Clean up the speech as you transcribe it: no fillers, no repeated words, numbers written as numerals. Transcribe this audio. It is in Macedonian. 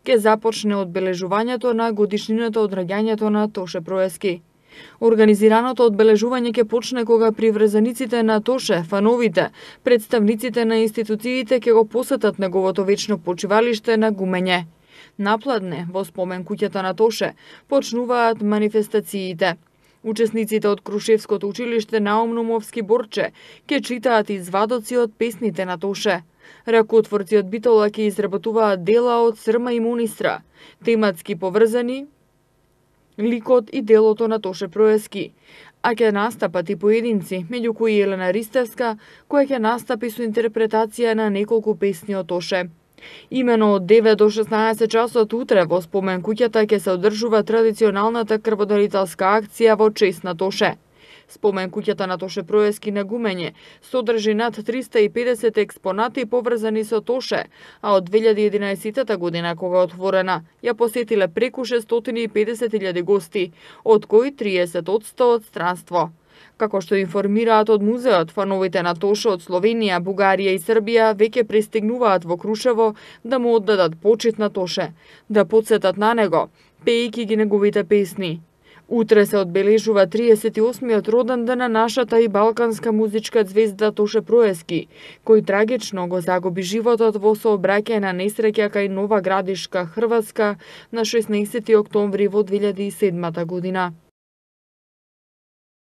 ќе започне одбележувањето на годишнината од раѓањето на Тоше Проески. Организираното одбележување ќе почне кога приврзаниците на Тоше, фановите, представниците на институциите ќе го посетат неговото вечно почивалиште на Гумење. Напладне, во спомен куќата на Тоше, почнуваат манифестациите. Учесниците од Крушевското училиште Наум Номовски Борче ќе читаат извадоци од песните на Тоше. Ракотворци од Битола ќе изработуваат дела од Срма и Монистра, тематски поврзани ликот и делото на Тоше Проески, а ќе настапат и поединци, меѓу кои Елена Ристевска, која ќе настапи со интерпретација на неколку песни од Тоше. Имено од 9 до 16 часот утре во спомен куќата ќе се одржува традиционалната крводарителска акција во чест на Тоше. Спомен куќата на Тоше Проески на Гумење содржи над 350 експонати поврзани со Тоше, а од 2011 година кога е отворена, ја посетиле преку 650.000 гости, од кои 30% од странство. Како што информираат од музеот, фановите на Тоше од Словенија, Бугарија и Србија веќе пристигнуваат во Крушево да му оддадат почит на Тоше, да потсетат на него, пеејќи ги неговите песни. Утре се одбележува 38-миот роден ден на нашата и балканска музичка ѕвезда Тоше Проески, кој трагично го загуби животот во сообраќајна несреќа кај Нова Градишка, Хрватска, на 16 октомври во 2007 година.